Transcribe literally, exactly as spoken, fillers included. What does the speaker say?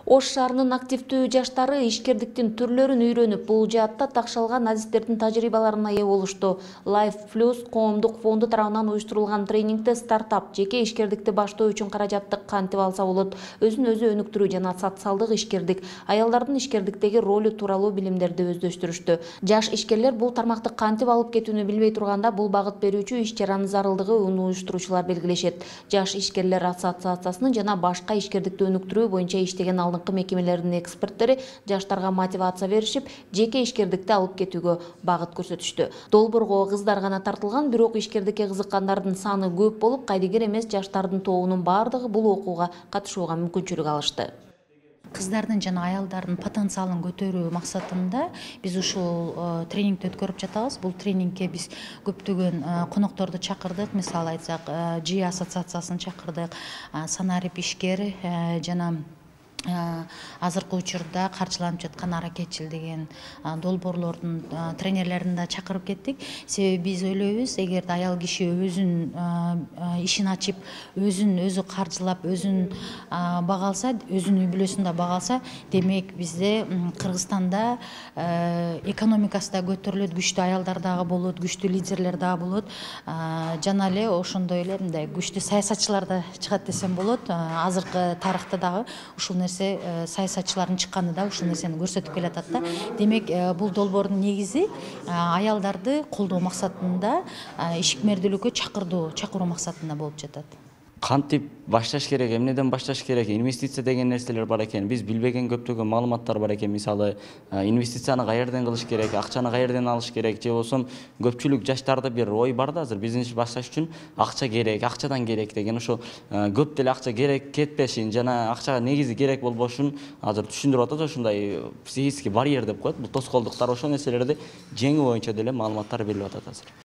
Ош шаарынын активдүү жаштары ишкердиктин түрлөрүн үйрөнүп, бул жаатта такшалган адистердин тажрыйбаларына ээ болушту. Life Plus коомдук фонду тарабынан уюштурулган тренингде стартап жеке ишкердикти баштоо үчүн каражатты кантип алса болот, өзүн өзү өнүктүрүү жана социалдык ишкердик, аялдардын ишкердиктеги ролу тууралуу билимдерди өздөштүрүштү. Жаш ишкерлер бул тармакты кантип алып кетүүнү билбей турганда, бул багыт берүүчү иш-чаранын зарылдыгын уюштуруучулар белгилешет. Жаш ишкерлер ассоциациясынын жана башка ишкердикти өнүктүрүү боюнча иштеген алдыңкы мекемелердин эксперттери жаштарга мотивация беришип, жеке ишкердикти алып кетүүгө багыт көрсөтүштү. Долбоорго кыздар гана тартылган, бирок ишкердикке кызыккандардын саны көп болуп, кайдыгер эмес жаштардын тобунун бардыгы бул окууга катышууга мүмкүнчүлүк алышты. Кыздардын жана аялдардын потенциалын көтөрүү максатында биз ушул тренингди өткөрүп жатабыз. Бул тренингке биз көптөгөн конокторду чакырдык. Мисалы айтсак, Жи ассоциациясын чакырдык, Санарип ишкер жана азыркы учурда каржыланып жаткан Аракетчил деген долбоорлордун тренерлерин да чакырып кеттик. Себеби биз ойлойбуз, эгерде аял киши өзүн ишин ачып, өзүн өзү каржылап, өзүн бага алса, өзүнүн үй бүлөсүн да бага алса, демек бизде Кыргызстанда экономикасы да көтөрүлөт, күчтүү аялдар дагы болот, күчтүү лидерлер дагы болот. Жана эле ошондой эле мындай күчтүү саясатчылар да чыгат десем болот. Азыркы тарыхта дагы ушул саясатчылардын чыкканы да ушул нерсени көрсөтүп келатат да. Демек, бул долбоордун негизи аялдарды колдоо максатында, ишмердүүлүккө чакырдуу, чакыруу максатында болуп жатат. Кантип башташ керек, эмнеден башташ керек, инвестиция деген нерселер бар экен. Биз билбеген көптөгөн маалыматтар бар экен. Мисалы, инвестицияны каерден кылыш керек, акчаны каерден алыш керек, же болсо көпчүлүк жаштарда бир ой бар да, азыр бизнес башташ үчүн акча керек, акчадан керек деген, ошо көп деле акча керек кетпешин жана акчага негизи керек болбошун азыр түшүндүрүп атат. Ушундай психический барьер деп коет. Бул тоскоолдуктар, ошол нерселерди жеңүү боюнча деле маалыматтар берилип атат азыр.